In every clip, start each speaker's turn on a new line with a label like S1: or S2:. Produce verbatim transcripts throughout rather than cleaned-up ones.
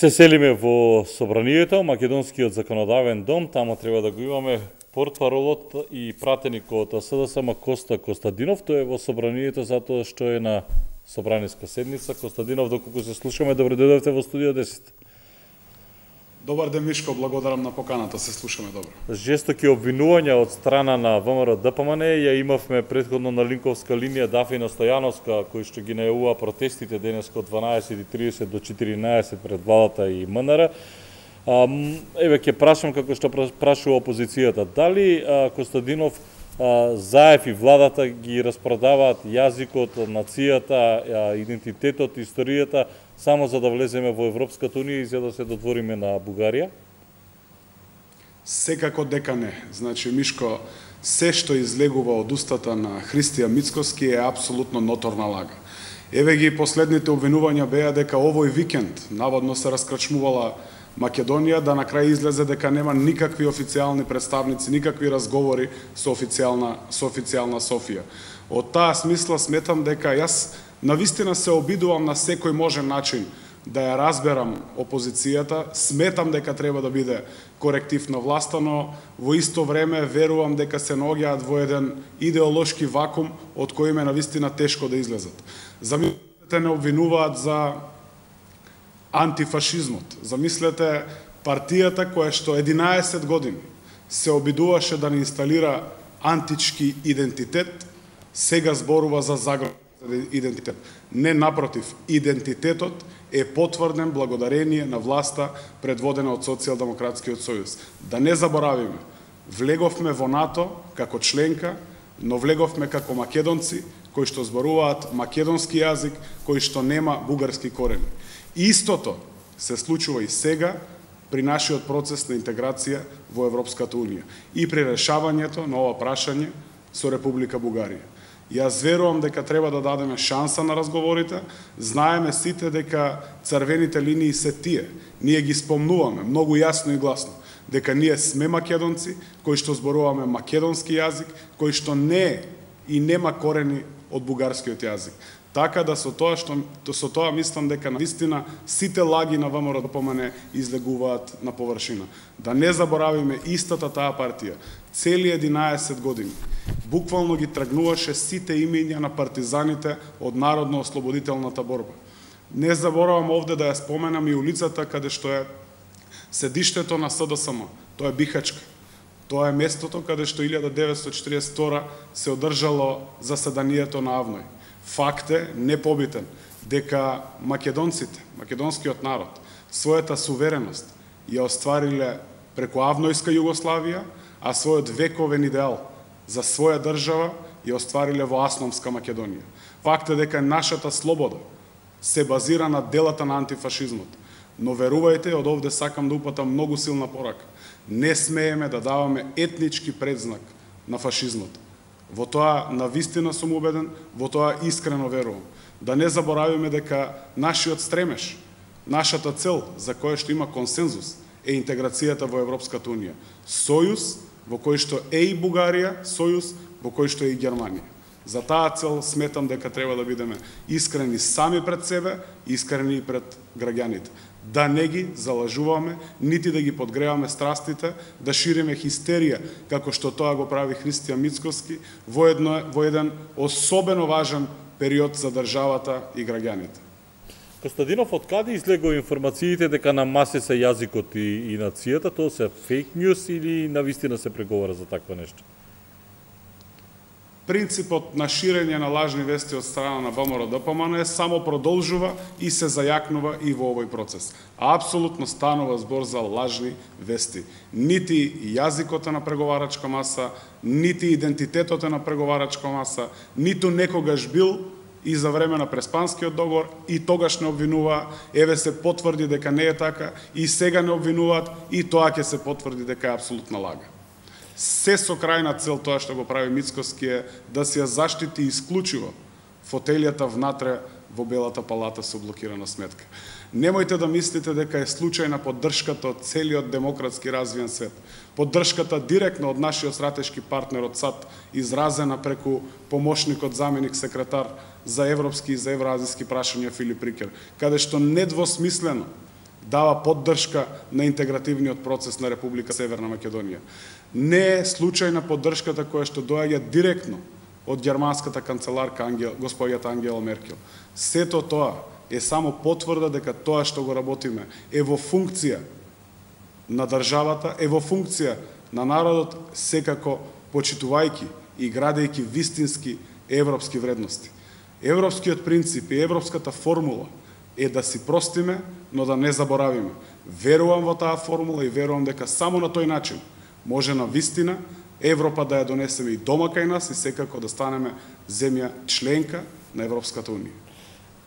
S1: Се селиме во собранието, Македонскиот законодавен дом, тамо треба да го имаме портпаролот и пратеникот од СДСМ Коста Костадинов. Тој е во собранието затоа што е на собраниска седница. Костадинов, доколку се слушаме, добре дојдовте во студио десет.
S2: Добар ден, Мишко, благодарам на поканата, се слушаме добро.
S1: Жестоки обвинувања од страна на ВМРО Д П М Н, ја имавме предходно на линковска линија Дафина Стојановска, кој што ги најавува протестите денеска од дванаесет и тридесет до четиринаесет пред владата и М Н Р. А, еве ќе прашам како што прашува опозицијата, дали а, Костадинов, а, Заев и владата ги распродаваат јазикот, нацијата, а, идентитетот, историјата, само за да влеземе во Европската Унија и за да се додвориме на Бугарија?
S2: Секако дека не. Значи, Мишко, се што излегува од устата на Христијан Мицкоски е апсолутно ноторна лага. Еве ги последните обвинувања беа дека овој викенд наводно се раскрачмувала Македонија, да на крај излезе дека нема никакви официјални представници, никакви разговори со официјална со официјална Софија. Од таа смисла сметам дека јас навистина се обидувам на секој можен начин да ја разберам опозицијата, сметам дека треба да биде коректив на власта, но во исто време верувам дека се наоѓаат во еден идеолошки вакуум од кој им е навистина тешко да излезат. Замислете, не обвинуваат за антифашизмот. Замислете партијата која што единаесет години се обидуваше да не инсталира антички идентитет, сега зборува за загрозен идентитет. Не, напротив, идентитетот е потврден благодарение на власта предводена од Социјалдемократскиот сојуз. Да не заборавиме, влеговме во НАТО како членка, но влеговме како македонци кои што зборуваат македонски јазик, кои што нема бугарски корени. Истото се случува и сега при нашиот процес на интеграција во Европската Унија и при решавањето на ова прашање со Република Бугарија. Јас верувам дека треба да дадеме шанса на разговорите, знаеме сите дека црвените линии се тие. Ние ги спомнуваме многу јасно и гласно дека ние сме македонци кои што зборуваме македонски јазик, кои што не и нема корени од бугарскиот јазик. Така да со тоа што со тоа мислам дека навистина сите лаги на ВМРО Д П М Н излегуваат на површина. Да не заборавиме истата таа партија цели единаесет години буквално ги тргнуваше сите имења на партизаните од народно-ослободителната борба. Не заборавам овде да ја споменам и улицата каде што е седиштето на С Д С М. Тоа е Бихачка. Тоа е местото каде што илјада деветстотини четиридесет и втора се одржало заседанието на АВНОј. Факт е непобитен дека македонците, македонскиот народ, својата сувереност ја оствариле преку авнојска Југославија, а својот вековен идеал за своја држава ја оствариле во Асномска Македонија. Факт е дека нашата слобода се базира на делата на антифашизмот. Но верувајте, од овде сакам да упатам многу силна порака. Не смееме да даваме етнички предзнак на фашизмот. Во тоа навистина сум убеден, во тоа искрено верувам. Да не заборавиме дека нашиот стремеж, нашата цел за која што има консензус е интеграцијата во Европската Унија. Сојуз во кој што е и Бугарија, сојуз во кој што е и Германија. За таа цел сметам дека треба да бидеме искрени сами пред себе, искрени и пред граѓаните. Да не ги залажуваме, нити да ги подгреваме страстите, да шириме хистерија, како што тоа го прави Христијан Мицкоски, во, едно, во еден особено важен период за државата и граѓаните.
S1: Костадинов, од каде излегува информациите дека на масе се јазикот и, и нацијата? Тоа се фейк ньюс или навистина се преговара за такво нешто?
S2: Принципот на ширење на лажни вести од страна на ВМРО Д П М Н само продолжува и се зајакнува и во овој процес. Апсолутно станува збор за лажни вести. Нити јазикот е на преговарачка маса, нити идентитетот е на преговарачка маса, ниту некогаш бил и за време на Преспанскиот договор, и тогаш не обвинуваа, еве се потврди дека не е така, и сега не обвинуваат, и тоа ќе се потврди дека е апсолутна лага. Се со крајна цел тоа што го прави Мицкоски е да се ја заштити исклучиво фотелјата внатре во Белата палата со блокирана сметка. Немојте да мислите дека е случајна поддршката од целиот демократски развиен свет. Поддршката директно од нашиот стратешки партнер од САД, изразена преку помошникот заменик секретар за европски и за евроазиски прашања Филип Рикер, каде што недвосмислено дава поддршка на интегративниот процес на Република Северна Македонија. Не е случајна поддршката која што доаѓа директно од германската канцеларка Ангел, господјата Ангела Меркел. Сето тоа е само потврда дека тоа што го работиме е во функција на државата, е во функција на народот, секако почитувајќи и градејќи вистински европски вредности. Европскиот принцип и европската формула е да си простиме, но да не заборавиме. Верувам во таа формула и верувам дека само на тој начин може на вистина Европа да ја донесеме и дома кај нас и секако да станеме земја членка на Европската унија.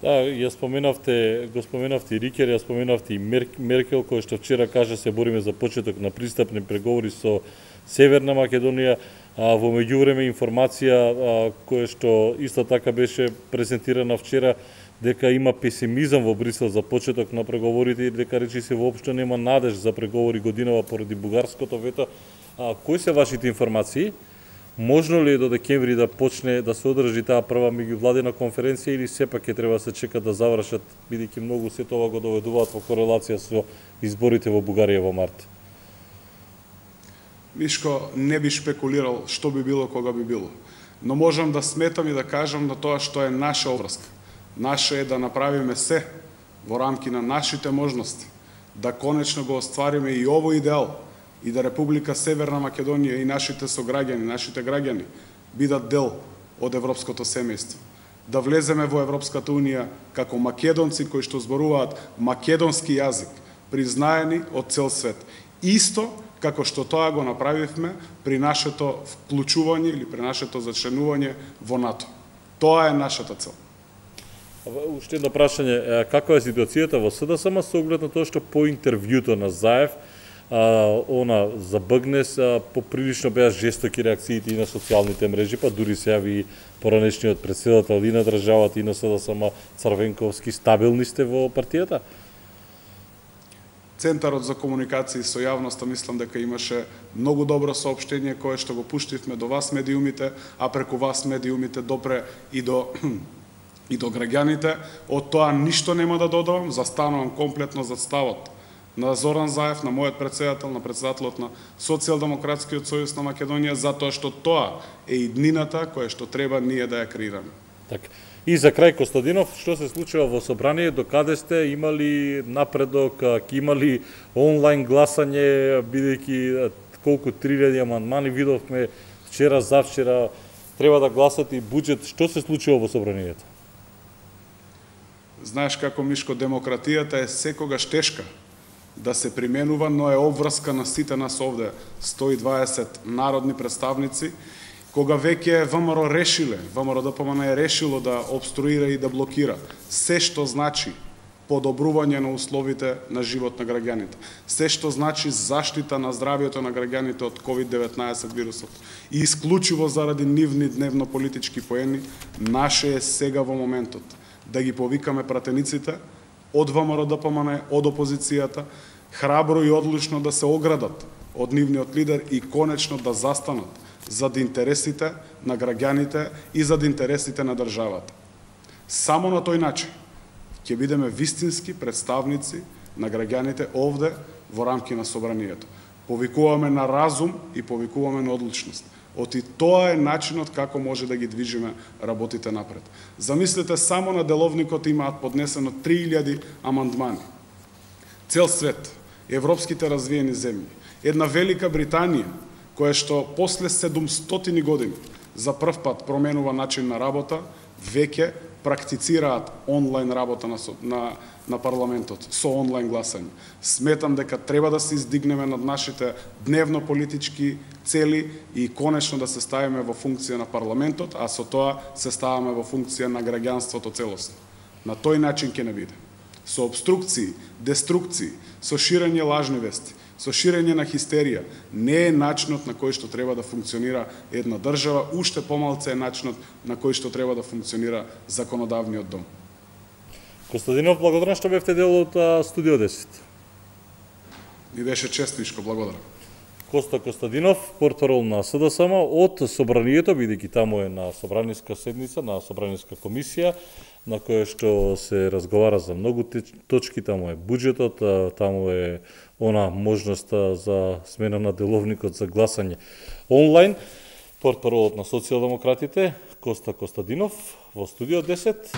S1: Да, ја споменавте, го споменавте и Рикер, ја споменавте и Меркел, кој што вчера кажа се бориме за почеток на пристапни преговори со Северна Македонија. А, во меѓувреме информација а, која што исто така беше презентирана вчера, дека има песимизам во Брисел за почеток на преговорите и дека речи се воопшто нема надеж за преговори годинава поради бугарското вето. А, кои се вашите информации? Можно ли е до декември да почне да се одржи таа прва меѓувладина конференција или сепак ќе треба да се чека да завршат, бидејќи многу се тоа го доведуваат во корелација со изборите во Бугарија во март?
S2: Мишко, не би шпекулирал што би било кога би било. Но можам да сметам и да кажам на тоа што е наша обврска. Наше е да направиме се во рамки на нашите можности, да конечно го оствариме и овој идеал, и да Република Северна Македонија и нашите сограѓани, нашите граѓани, бидат дел од европското семејство. Да влеземе во Европската унија како македонци кои што зборуваат македонски јазик, признаени од цел свет. Исто како што тоа го направивме при нашето вклучување или при нашето зачленување во НАТО. Тоа е нашата цел.
S1: Уште едно прашање, каква е ситуацијата во СДСМ со оглед на тоа што по интервјуто на Заев а, она за Бъгнес а, поприлично беа жестоки реакциите и на социјалните мрежи, па дури се јави поранешниот претседател и на државата и на СДСМ Црвенковски. Стабилни сте во партијата?
S2: Центарот за комуникации со јавноста мислам дека имаше многу добро соопштение кое што го пуштивме до вас медиумите, а преку вас медиумите допре и до и до граѓаните. Од тоа ништо нема да додавам, застанувам комплетно за ставот на Зоран Заев, на мојот претседател, на претседателот на Социјалдемократскиот сојуз на Македонија, затоа што тоа е иднината која што треба ние да ја креираме.
S1: Така. И за крај, Костадинов, што се случува во собрание, докаде сте, имали напредок, ќе имали онлайн гласање, бидејќи колку три илјади амандмани видовме вчера, завчера, треба да гласат и буџет. Што се случува во собранието?
S2: Знаеш како, Мишко, демократијата е секогаш тешка да се применува, но е обврска на сите нас овде, сто и дваесет народни представници, кога веќе ВМРО решиле, ВМРО-ДПМН е решило да обструира и да блокира се што значи подобрување на условите на живот на граѓаните, се што значи заштита на здравјето на граѓаните од ковид деветнаесет вирусот, и исклучиво заради нивни дневно политички поени, наше е сега во моментот да ги повикаме пратениците од ВМРО-ДПМН, од опозицијата, храбро и одлучно да се оградат од нивниот лидер и конечно да застанат зад интересите на граѓаните и зад интересите на државата. Само на тој начин ќе бидеме вистински представници на граѓаните овде во рамки на собранието. Повикуваме на разум и повикуваме на одлучност. Оти тоа е начинот како може да ги движиме работите напред. Замислете, само на деловникот имаат поднесено три илјади амандмани. Цел свет, европските развиени земји, една Велика Британија, која што после седумстотини години за прв пат променува начин на работа, веќе практицираат онлайн работа на, на, на парламентот, со онлайн гласање. Сметам дека треба да се издигнеме над нашите дневно политички цели и конечно да се ставиме во функција на парламентот, а со тоа се ставаме во функција на граѓанството целосно. На тој начин ќе не биде. Со обструкции, деструкции, со ширење лажни вести, со ширење на хистерија, не е начинот на кој што треба да функционира една држава, уште помалце е начинот на кој што треба да функционира законодавниот дом.
S1: Костадинов, благодарам што бевте дел од Студио десет.
S2: Ми беше чест, Мишко, благодарам.
S1: Коста Костадинов, портпарол на СДСМ од собранието, бидејќи таму е на собраниска седница, на собраниска комисија, на кое што се разговара за многу точки, таму е буџетот, таму е она можноста за смена на деловникот за гласање онлайн. Портпаролот на социјалдемократите Коста Костадинов во студио десет.